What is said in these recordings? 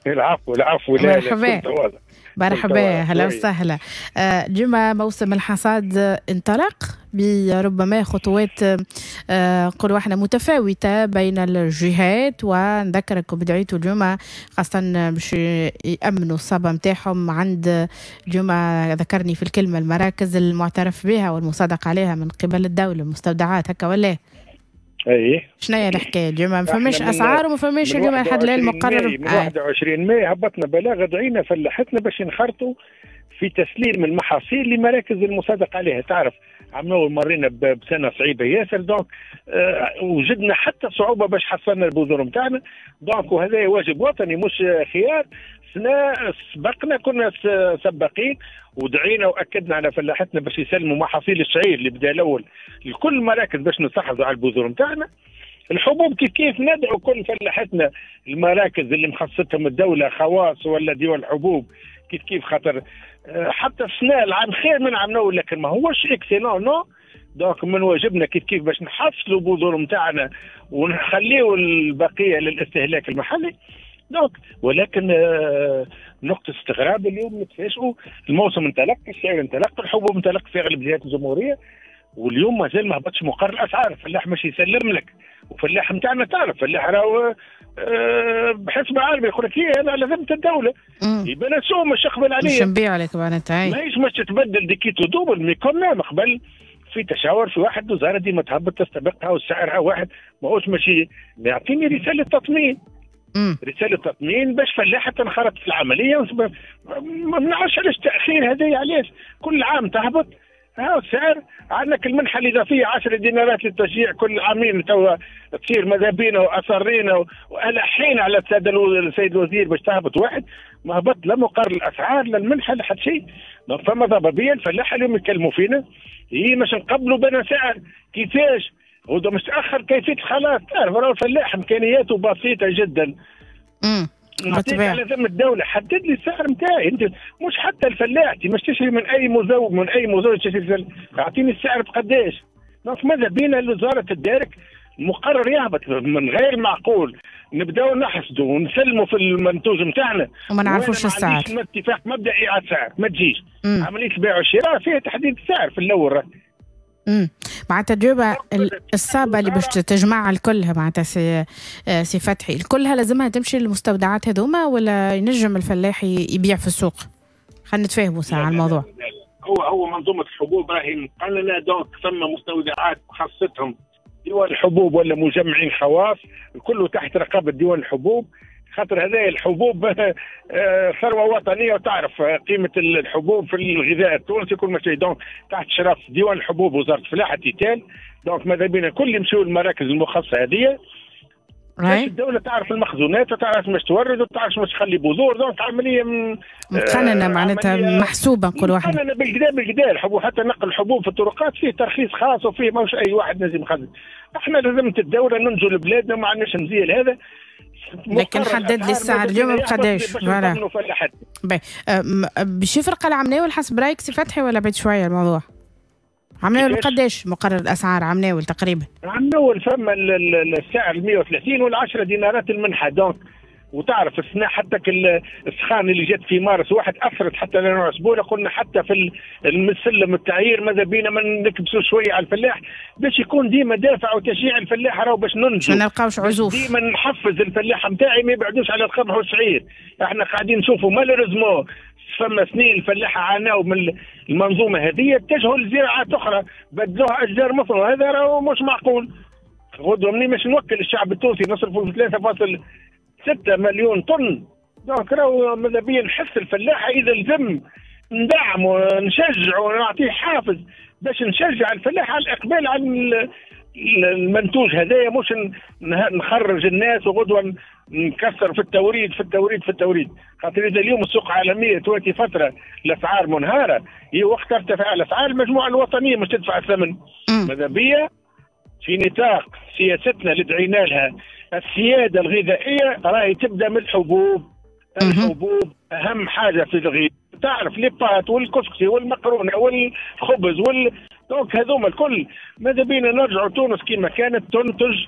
العفو العفو. لا. مرحبا. مرحبا، هلا وسهلا. اليوم موسم الحصاد انطلق بربما خطوات نقولوا احنا متفاوتة بين الجهات، ونذكركم بدعيتوا اليوم خاصة باش يأمنوا الصابة نتاعهم عند اليوم ذكرني في الكلمة المراكز المعترف بها والمصادق عليها من قبل الدولة، المستودعات هكا ولا؟ اي. شنو هي الحكاية اليوم؟ ما فماش اسعار وما فماش اليوم لحد الان المقرر. من 21 ماي هبطنا بلاغ دعينا فلاحتنا باش ينخرطوا في تسليم المحاصيل لمراكز المصادق عليها. تعرف عملوا مرينا بسنة صعيبة ياسر، donc وجدنا حتى صعوبة باش حصلنا البذور نتاعنا، donc وهذا واجب وطني مش خيار. سنة سبقنا، كنا سباقين ودعينا واكدنا على فلاحتنا باش يسلموا محاصيل الشعير اللي بدا الاول لكل المراكز باش نستحفظوا على البذور نتاعنا. الحبوب كيف كيف ندعو كل فلاحتنا المراكز اللي مخصصتهم الدولة خواص ولا ديوان الحبوب كيف كيف، خاطر حتى السنة العام خير من عام الاول لكن ما هوش excellent non. donc من واجبنا كيف كيف باش نحصلوا بذور نتاعنا ونخليو البقية للاستهلاك المحلي. donc ولكن نقطة استغراب اليوم نتفاجئوا الموسم انطلق، الشعير انطلق، الحبوب انطلق في اغلب جهات الجمهورية، واليوم مازال ما هبطش مقرر الاسعار. الفلاح مش يسلم لك، وفلاح نتاعنا تعرف فلاح راهو بحسب عالمي يقول لك انا على ذمه الدولة يبقى السوق مش يقبل عليا، مش نبيع لك معناتها، ماهيش مش تتبدل du quitte au double mais quand même قبل في تشاور في واحد وزارة ديما تهبط تستبقها وسعرها واحد ماهوش ماشي يعطيني رسالة تطمين. رسالة تطمين باش فلاحة تنخرط في العملية. ما نعرفش علاش التاخير هذايا، علاش كل عام تهبط ها السعر. عندك المنحة الاضافية 10 دينارات للتشجيع كل عامين توا تصير، ماذا بينا واصرينا والحين على السيد الوزير باش تهبط واحد، ما هبط لا مقرر الاسعار لا المنحة لا حتى شيء. فما ضبابية الفلاحة اليوم يتكلموا فينا هي باش نقبلوا بنا سعر كيفاش وده مش تاخر كيفية الخلاص. تعرف راهو الفلاح امكانياته بسيطة جدا. نعطيك على ذمة الدولة حدد لي السعر نتاعي انت، مش حتى الفلاح مش تشري من اي مزود، من اي مزود تشري، اعطيني السعر بقداش. donc ماذا بينا الوزارة تدارك المقرر يهبط. من غير معقول نبداو نحسدوا ونسلموا في المنتوج نتاعنا وما نعرفوش السعر. ما اتفاق مبدئي على السعر ما تجيش. عملية البيع والشراء فيها تحديد السعر في الاول. معناتها اليوم الصابه اللي باش تجمعها الكلها معناتها سي فتحي الكلها لازمها تمشي للمستودعات هذوما ولا ينجم الفلاح يبيع في السوق؟ خلينا نتفاهموا ساعة على الموضوع. هو منظومة الحبوب راهي مقننه، donc ثم مستودعات خاصتهم ديوان الحبوب ولا مجمعين خواص، الكل تحت رقابه ديوان الحبوب، خاطر هذه الحبوب ثروة وطنية وتعرف قيمة الحبوب في الغذاء التونسي كل ما شيء. donc تحت شرف ديوان الحبوب وزارة الفلاحة tutelle. donc ماذا بينا كل يمشيو للمراكز المخصصة هذه باش الدولة تعرف المخزونات وتعرف مش تورد وتعرف مش تخلي بذور. donc عملية مقننه معناتها محسوبة نقولوا احنا مقننه بالكدا بالكدا. الحبوب حتى نقل الحبوب في الطرقات فيه ترخيص خاص وفيه ماهوش اي واحد لازم يخزن. احنا لازم الدولة ننجو لبلادنا وما عندناش مزية لهذا. لكن حدد لي السعر اليوم بقداش voilà. باش يفرق العمناول حسب رايك سي فتحي ولا بعيد شوية الموضوع؟ عمناول قداش مقرر الاسعار عمناول تقريبا؟ عمناول فما السعر 130 وال10 دينارات المنحة. donc وتعرف السنة حتى السخان اللي جت في مارس واحد اثرت حتى لنا اسبوع، قلنا حتى في السلم التعيير ماذا بينا ما نكبسوا شوية على الفلاح باش يكون ديما دافع وتشجيع الفلاح راهو باش ننجو ما نلقاوش عزوف. ديما نحفز الفلاح نتاعي ما يبعدوش على القمح والشعير. احنا قاعدين نشوفوا malheureusement فما سنين الفلاحة عاناو من المنظومة هذه، اتجهوا لزراعات اخرى بدلوها اشجار مثلا، هذا راهو مش معقول. غدوه مني باش نوكل الشعب التونسي نصرفوا 3.6 مليون طن. donc راهو ماذا بيا نحس الفلاحة اذا لزم ندعمه نشجعه ونعطيه حافز باش نشجع الفلاح على الاقبال على المنتوج هذايا، مش نخرج الناس وغدوه نكسر في التوريد في التوريد في التوريد. خاطر اذا اليوم السوق العالمية تواتي فترة الاسعار منهاره، هي وقت ترتفع الاسعار المجموعة الوطنية مش تدفع الثمن. ماذا بيا في نطاق سياستنا اللي دعينا لها السيادة الغذائية راهي تبدا من الحبوب. الحبوب اهم حاجة في الغذاء، تعرف les pâtes والكسكسي والمقرونه والخبز donc هذوما الكل ماذا بينا نرجعوا تونس كما كانت تنتج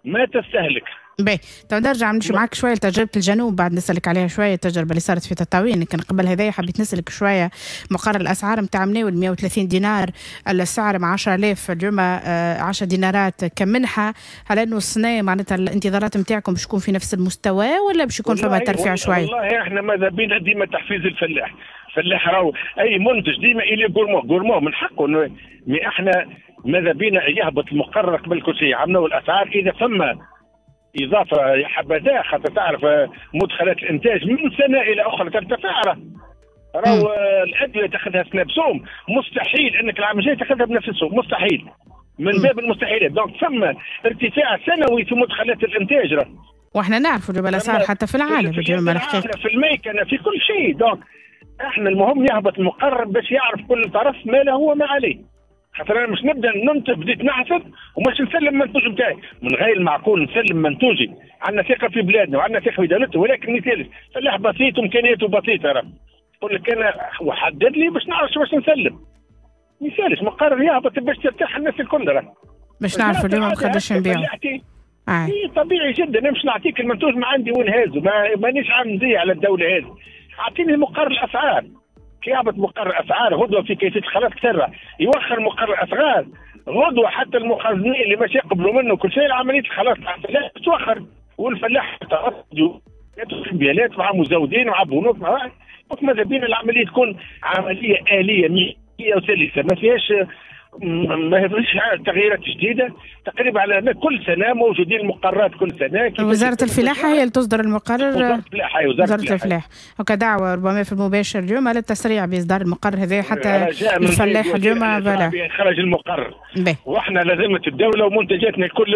ما تستهلك. باهي، تو نرجع نمشي معاك شوية لتجربة الجنوب، بعد نسالك عليها شوية التجربة اللي صارت في تطاوين، لكن قبل هذايا حبيت نسالك شوية مقرر الاسعار نتاع مناول 130 دينار السعر مع 10000 اليوم 10 دينارات كمنحه، هل انه السنة معناتها الانتظارات نتاعكم باش تكون في نفس المستوى ولا باش يكون فما ترفيع شوية؟ والله احنا ماذا بينا ديما تحفيز الفلاح، الفلاح راهو اي منتج ديما il est gourmand، gourmand من حقه، mais احنا ماذا بينا يهبط المقرر قبل كل شيء، عملوا الاسعار اذا فما اضافه يا حبذا، خاطر تعرف مدخلات الانتاج من سنة الى اخرى ترتفع، راهو الادوية تاخذها سنة بسوم، مستحيل انك العام الجاي تاخذها بنفس السوم، مستحيل، من باب المستحيلات، donc ثم ارتفاع سنوي في مدخلات الانتاج راه. واحنا نعرفوا الاسعار حتى في العالم في الميكنه في كل شيء، donc احنا المهم يهبط المقرر باش يعرف كل طرف ما له وما عليه. خاطر انا مش نبدا ننتج بديت نحسب ومش نسلم منتوج نتاعي، من غير المعقول نسلم منتوجي، عندنا ثقة في بلادنا وعندنا ثقة في دولتنا، ولكن مثال فلاح بسيط وامكانياته بسيطة راه يقول لك انا وحدد لي باش نعرف باش نسلم. ما يسالش مقرر يهبط باش ترتاح الناس الكل راه. باش نعرفوا اليوم قداش نبيعوا. إيه طبيعي جدا، مش نعطيك المنتوج ما عندي وين هازو، مانيش عامل مزية على الدولة هذه. اعطيني مقرر الاسعار. كي يهبط مقرر اسعار غدوه في كيفية الخلاص تسرع، يوخر مقرر اسعار غدوه حتى المخزنين اللي مش يقبلوا منه كل شيء عملية الخلاص الفلاح توخر، والفلاح يدخل بيانات مع مزودين مع بنوك مع ماذا بينا العملية تكون عملية اليه مية وسلسه ما فيهاش تغييرات جديدة. تقريبا على كل سنة موجودين المقررات كل سنة. وزارة الفلاحة هي اللي تصدر المقرر. وزارة الفلاحة، وزارة الفلاحة وكدعوه ربما في المباشر اليوم للتسريع باصدار المقرر هذا حتى الفلاح اليوم voilà خرج المقرر. واحنا لازمه الدولة ومنتجاتنا كل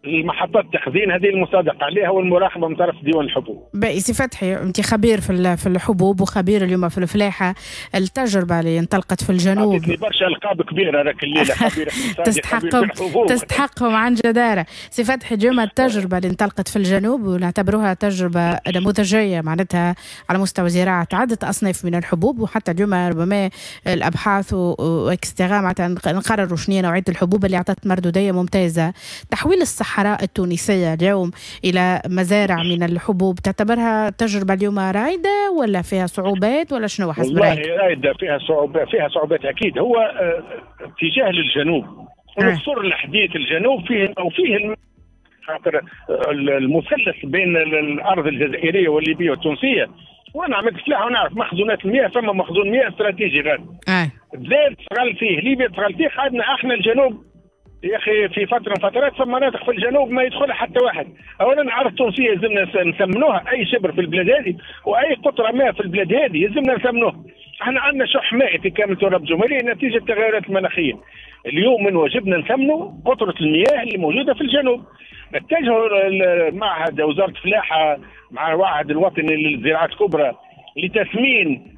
المحطات التخزين هذه المصادقة عليها والمراقبة من طرف ديوان الحبوب. باهي سي فتحي، انت خبير في الحبوب وخبير اليوم في الفلاحة، التجربة اللي انطلقت في الجنوب برشا القاب كبيرة هذاك الليلة، خبير تستحقهم تستحقهم عن جداره. سي فتحي، اليوم التجربة اللي انطلقت في الجنوب ونعتبروها تجربه نموذجيه معناتها على مستوى زراعة عده اصناف من الحبوب، وحتى اليوم ربما الابحاث و et cetera معناتها نقرروا شنو نوعية الحبوب اللي اعطت مردوديه ممتازة. تحويل الصحراء التونسية اليوم الى مزارع من الحبوب تعتبرها تجربه اليوم رايده ولا فيها صعوبات ولا شنو حسب رايك؟ والله رايده، فيها صعوبات، فيها صعوبات اكيد. هو اتجاه للجنوب ونصر الحديث الجنوب فيه او فيه خاطر المثلث بين الارض الجزائرية والليبيه والتونسيه، وانا عملت فلاحة ونعرف مخزونات المياه، فما مخزون مياه استراتيجي غادي. بلاد تغل فيه ليبيا تغل فيه، خدنا احنا الجنوب يا اخي في فترة من فترات فما مناطق في الجنوب ما يدخلها حتى واحد. اولا الارض التونسية يلزمنا نثمنوها، اي شبر في البلاد هذه واي قطرة ماء في البلاد هذه يلزمنا نثمنوها. احنا عندنا شح مائي في كامل تراب الجمهورية نتيجة التغيرات المناخية. اليوم من واجبنا نثمنوا قطرة المياه اللي موجودة في الجنوب. اتجهوا المعهد وزارة الفلاحة مع المعهد الوطني للزراعات الكبرى لتثمين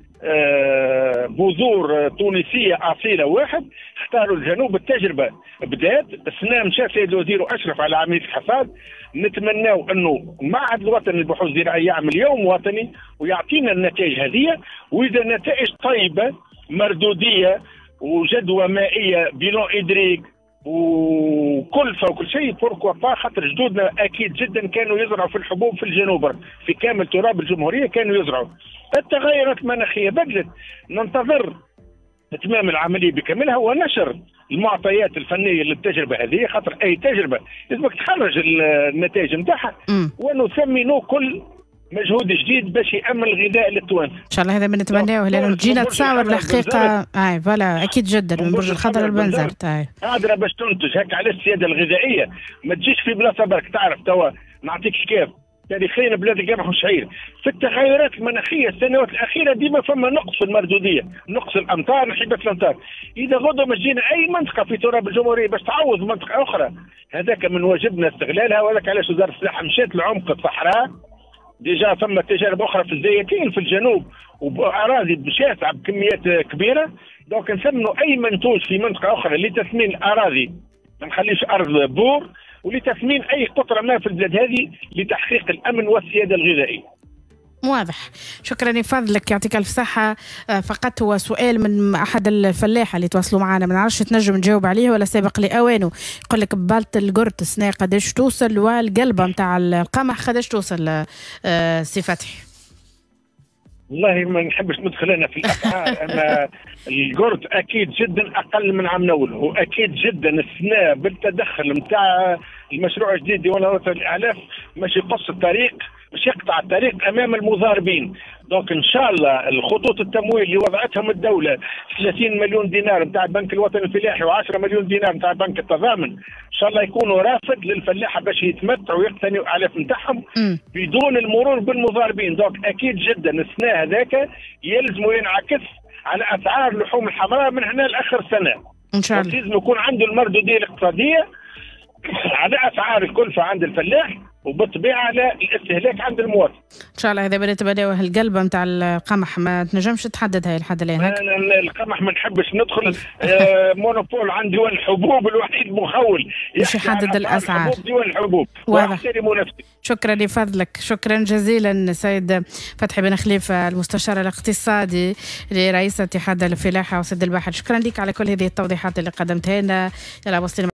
بذور تونسية اصيلة واحد، اختاروا الجنوب. التجربة بدات السنة، مشى سيد الوزير واشرف على عملية الحصاد. نتمناو انه المعهد الوطني للبحوث الزراعية يعمل يوم وطني ويعطينا النتائج هذه، واذا نتائج طيبة مردوديه وجدوى مائية bilan hydrique وكلفه وكل شيء pourquoi pas، خاطر جدودنا اكيد جدا كانوا يزرعوا في الحبوب في الجنوب، في كامل تراب الجمهورية كانوا يزرعوا. التغيرات المناخية بدلت، ننتظر اتمام العملية بكاملها ونشر المعطيات الفنية للتجربه هذه، خاطر اي تجربه لازمك تخرج النتائج نتاعها ونثمنوا كل مجهود جديد باش يامن الغذاء للتوانسه. ان شاء الله هذا ما نتمناه، لانه تجينا تصاور الحقيقة اي voilà اكيد جدا من برج الخضر لبنزرت قادرة باش تنتج. هكا علاش السيادة الغذائية ما تجيش في بلاصة برك. تعرف توا نعطيك كيف تاريخيا بلاد القمح والشعير في التغيرات المناخية السنوات الاخيرة ديما فما نقص في المردوديه، نقص الامطار، نحبه الامطار. اذا غدوه ما جينا اي منطقة في تراب الجمهورية باش تعوض منطقة اخرى، هذاك من واجبنا استغلالها. وهذاك علاش وزارة الفلاحة مشات لعمق الصحراء. déjà فما تجارب اخرى في الزيتين في الجنوب وباراضي شاسعه بكميات كبيرة. donc نثمنوا اي منتوج في منطقة اخرى لتثمين الاراضي، ما نخليش ارض بور، ولتثمين اي قطرة ماء في البلاد هذه لتحقيق الامن والسيادة الغذائية. واضح، شكرا لفضلك، يعطيك الف صحة. فقط هو سؤال من احد الفلاحة اللي تواصلوا معنا، ما نعرفش تنجم تجاوب عليه ولا سابق لاوانه. يقول لك بالة القرط السنة قداش توصل، والقلبه نتاع القمح قداش توصل، سي فتحي؟ والله ما نحبش ندخل انا في الاسعار، اما القرط اكيد جدا اقل من عام الاول، واكيد جدا السنة بالتدخل نتاع المشروع الجديد ديوان الوطني للاعلاف مش يقص الطريق، مش يقطع الطريق امام المضاربين. donc ان شاء الله الخطوط التمويل اللي وضعتهم الدولة 30 مليون دينار نتاع البنك الوطني الفلاحي و10 مليون دينار نتاع بنك التضامن، ان شاء الله يكونوا رافد للفلاحه باش يتمتعوا ويقتنيوا الاعلاف نتاعهم بدون المرور بالمضاربين. donc اكيد جدا السنة هذاك يلزم ينعكس على اسعار اللحوم الحمراء من هنا لاخر سنة ان شاء الله. لازم يكون عنده المردوديه الاقتصادية على اسعار الكلفة عند الفلاح، وبالطبيعه على الاستهلاك عند المواطن. ان شاء الله. هذا بالنسبة القلبه نتاع القمح ما تنجمش تحددها لحد الان. القمح ما نحبش ندخل، monopole عند ديوان الحبوب الوحيد مخول باش يحدد الاسعار. ديوان الحبوب. واضح. شكرا لفضلك، شكرا جزيلا سيد فتحي بن خليفة المستشار الاقتصادي لرئيس اتحاد الفلاحة وسد البحر، شكرا لك على كل هذه التوضيحات اللي قدمتها لنا. يلا وصلنا.